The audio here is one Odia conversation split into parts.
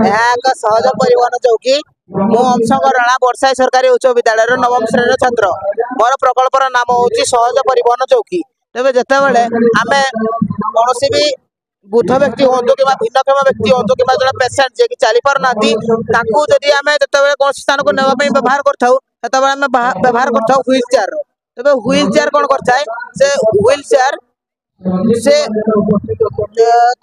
ଏହା ଏକ ସହଜ ପରିବହନ ଚୌକି। ମୁଁ ଅଂଶଙ୍କ ରାଣା, ବର୍ଷାଇ ସରକାରୀ ଉଚ୍ଚ ବିଦ୍ୟାଳୟର ନବମ ଶ୍ରେଣୀର ଛାତ୍ର। ମୋର ପ୍ରକଳ୍ପର ନାମ ହେଉଛି ସହଜ ପରିବହନ ଚୌକି। ତେବେ ଯେତେବେଳେ ଆମେ କୌଣସି ବି ବୃଦ୍ଧ ବ୍ୟକ୍ତି ହୁଅନ୍ତୁ କିମ୍ବା ଭିନ୍ନକ୍ଷମ ବ୍ୟକ୍ତି ହୁଅନ୍ତୁ କିମ୍ବା ଜଣେ ପେସେଣ୍ଟ ଯିଏକି ଚାଲି ପାରୁନାହାନ୍ତି, ତାଙ୍କୁ ଯଦି ଆମେ ଯେତେବେଳେ କୌଣସି ସ୍ଥାନକୁ ନେବା ପାଇଁ ବ୍ୟବହାର କରିଥାଉ, ସେତେବେଳେ ଆମେ ବ୍ୟବହାର କରିଥାଉ ହ୍ୱିଲ୍ ଚେୟାର। ତେବେ ହ୍ୱିଲ୍ ଚେୟାର କ'ଣ କରିଥାଏ? ସେ ହ୍ୱିଲ୍ ଚେୟାର ସେ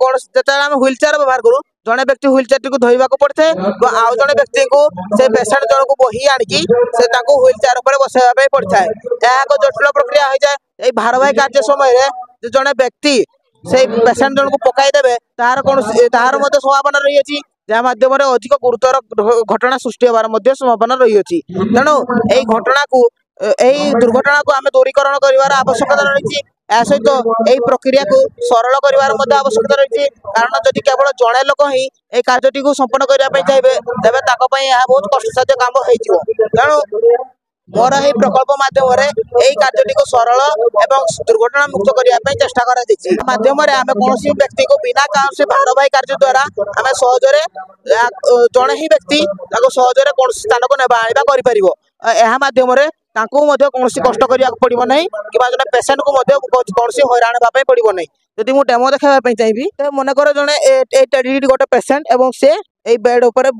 କୌଣସି ଯେତେବେଳେ ଆମେ ହ୍ୱିଲ୍ ଚେୟାର ବ୍ୟବହାର କରୁ, ଜଣେ ବ୍ୟକ୍ତି ହ୍ୱିଲ୍ ଚେୟାରଟିକୁ ଧୋଇବାକୁ ପଡ଼ିଥାଏ ଏବଂ ଆଉ ଜଣେ ବ୍ୟକ୍ତିଙ୍କୁ ସେ ପେସେଣ୍ଟ ଜଣକୁ ବୋହି ଆଣିକି ସେ ତାଙ୍କୁ ହ୍ୱିଲ୍ ଚେୟାର ଉପରେ ବସାଇବା ପାଇଁ ପଡ଼ିଥାଏ। ଏହା ଏକ ଜଟିଳ ପ୍ରକ୍ରିୟା ହୋଇଯାଏ। ଏଇ ଭାରବାହୀ କାର୍ଯ୍ୟ ସମୟରେ ଜଣେ ବ୍ୟକ୍ତି ସେଇ ପେସେଣ୍ଟ ଜଣକୁ ପକାଇ ଦେବେ, ତାହାର କୌଣସି ତାହାର ମଧ୍ୟ ସମ୍ଭାବନା ରହିଅଛି, ଯାହା ମାଧ୍ୟମରେ ଅଧିକ ଗୁରୁତର ଘଟଣା ସୃଷ୍ଟି ହେବାର ମଧ୍ୟ ସମ୍ଭାବନା ରହିଅଛି। ତେଣୁ ଏଇ ଘଟଣାକୁ, ଏଇ ଦୁର୍ଘଟଣାକୁ ଆମେ ଦୂରୀକରଣ କରିବାର ଆବଶ୍ୟକତା ରହିଛି। ଏହା ସହିତ ଏଇ ପ୍ରକ୍ରିୟାକୁ ସରଳ କରିବାର ମଧ୍ୟ ଆବଶ୍ୟକତା ରହିଛି, କାରଣ ଯଦି କେବଳ ଜଣେ ଲୋକ ହିଁ ଏଇ କାର୍ଯ୍ୟଟିକୁ ସମ୍ପନ୍ନ କରିବା ପାଇଁ ଚାହିଁବେ, ତେବେ ତାଙ୍କ ପାଇଁ ଏହା ବହୁତ କଷ୍ଟସାଧ୍ୟ କାମ ହେଇଯିବ। ତେଣୁ ମୋର ଏହି ପ୍ରକଳ୍ପ ମାଧ୍ୟମରେ ଏଇ କାର୍ଯ୍ୟଟିକୁ ସରଳ ଏବଂ ଦୁର୍ଘଟଣା ମୁକ୍ତ କରିବା ପାଇଁ ଚେଷ୍ଟା କରାଯାଇଛି। ମାଧ୍ୟମରେ ଆମେ କୌଣସି ବ୍ୟକ୍ତିକୁ ବିନା କୌଣସି ଭାରବାହୀ କାର୍ଯ୍ୟ ଦ୍ୱାରା ଆମେ ସହଜରେ ଜଣେ ହିଁ ବ୍ୟକ୍ତି ତାକୁ ସହଜରେ କୌଣସି ସ୍ଥାନକୁ ନେବା ଆଣିବା କରିପାରିବ। ଏହା ମାଧ୍ୟମରେ ତାଙ୍କୁ ମଧ୍ୟ କୌଣସି କଷ୍ଟ କରିବାକୁ ପଡ଼ିବ ନାହିଁ କିମ୍ବା ଜଣେ ପେସେଣ୍ଟକୁ ମଧ୍ୟ କୌଣସି ହଇରାଣ ହେବା ପାଇଁ ପଡ଼ିବ ନାହିଁ। ଯଦି ମୁଁ ଡେମୋ ଦେଖାଇବା ପାଇଁ ଚାହିଁବି, ତ ମନେକର ଜଣେ ଏଇ ଗୋଟେ ପେସେଣ୍ଟ ଏବଂ ସେ ଏଇ ବେଡ୍ ଉପରେ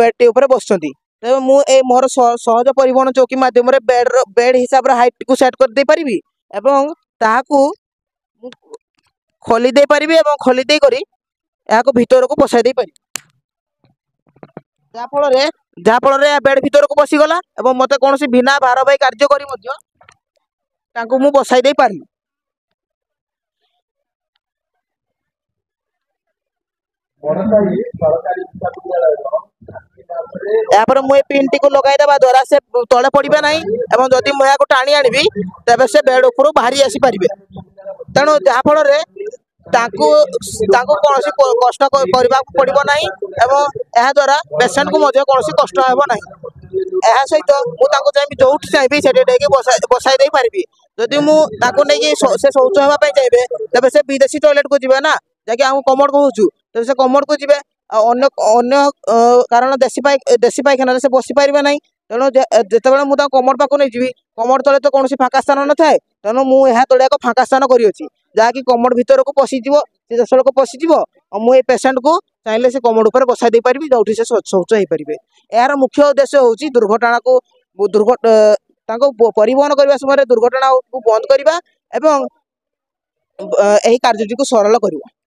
ବେଡ୍ଟି ଉପରେ ବସିଛନ୍ତି। ତେବେ ମୁଁ ଏଇ ମୋର ସହଜ ପରିବହନ ଚୌକି ମାଧ୍ୟମରେ ବେଡ୍ର ବେଡ୍ ହିସାବରେ ହାଇଟ୍କୁ ସେଟ୍ କରିଦେଇପାରିବି ଏବଂ ତାହାକୁ ମୁଁ ଖୋଲି ଦେଇପାରିବି ଏବଂ ଖୋଲି ଦେଇକରି ଏହାକୁ ଭିତରକୁ ପଶାଇ ଦେଇପାରିବି, ଯାହାଫଳରେ ଏହା ବେଡ୍ ଭିତରକୁ ପଶିଗଲା ଏବଂ ମୋତେ କୌଣସି ବିନା ଭାରବାହୀ କାର୍ଯ୍ୟ କରି ମଧ୍ୟ ତାଙ୍କୁ ମୁଁ ବସାଇ ଦେଇପାରିଲି। ଏହାପରେ ମୁଁ ଏ ପିନ୍ଟିକୁ ଲଗାଇ ଦେବା ଦ୍ୱାରା ସେ ତଳେ ପଡ଼ିବେ ନାହିଁ ଏବଂ ଯଦି ମୁଁ ଏହାକୁ ଟାଣି ଆଣିବି, ତେବେ ସେ ବେଡ୍ ଉପରୁ ବାହାରି ଆସିପାରିବେ। ତେଣୁ ଯାହାଫଳରେ ତାଙ୍କୁ କୌଣସି କଷ୍ଟ କରିବାକୁ ପଡ଼ିବ ନାହିଁ ଏବଂ ଏହାଦ୍ୱାରା ପେସେଣ୍ଟକୁ ମଧ୍ୟ କୌଣସି କଷ୍ଟ ହେବ ନାହିଁ। ଏହା ସହିତ ମୁଁ ତାଙ୍କୁ ଚାହିଁବି ଯୋଉଠି ଚାହିଁବି ସେଠି ନେଇକି ବସାଇ ଦେଇପାରିବି। ଯଦି ମୁଁ ତାଙ୍କୁ ନେଇକି ସେ ଶୌଚ ହେବା ପାଇଁ ଚାହିଁବେ, ତେବେ ସେ ବିଦେଶୀ ଟଏଲେଟକୁ ଯିବେ ନା, ଯାହାକି ଆମକୁ କମୋଡ଼ କହୁଛୁ, ତେବେ ସେ କମୋଡ଼କୁ ଯିବେ ଆଉ ଅନ୍ୟ କାରଣ ଦେଶୀ ପାଇଖାନାରେ ସେ ବସି ପାରିବେ ନାହିଁ। ତେଣୁ ଯେତେବେଳେ ମୁଁ ତାଙ୍କୁ କମୋଡ଼ ପାଖକୁ ନେଇଯିବି, କମୋଡ଼ ତଳେ ତ କୌଣସି ଫାଙ୍କା ସ୍ଥାନ ନଥାଏ। ତେଣୁ ମୁଁ ଏହା ତଳେ ଏକ ଫାଙ୍କା ସ୍ଥାନ କରିଅଛି, ଯାହାକି କମୋଡ଼ ଭିତରକୁ ପଶିଯିବ, ସିଧାସଳଖ ପଶିଯିବ ଆଉ ମୁଁ ଏଇ ପେସେଣ୍ଟକୁ ଚାହିଁଲେ ସେ କମୋଡ଼ ଉପରେ ବସାଇ ଦେଇପାରିବି, ଯୋଉଠି ସେ ଶୌଚ ହେଇପାରିବେ। ଏହାର ମୁଖ୍ୟ ଉଦ୍ଦେଶ୍ୟ ହେଉଛି ଦୁର୍ଘଟଣାକୁ ତାଙ୍କୁ ପରିବହନ କରିବା ସମୟରେ ଦୁର୍ଘଟଣାକୁ ବନ୍ଦ କରିବା ଏବଂ ଏହି କାର୍ଯ୍ୟଟିକୁ ସରଳ କରିବା।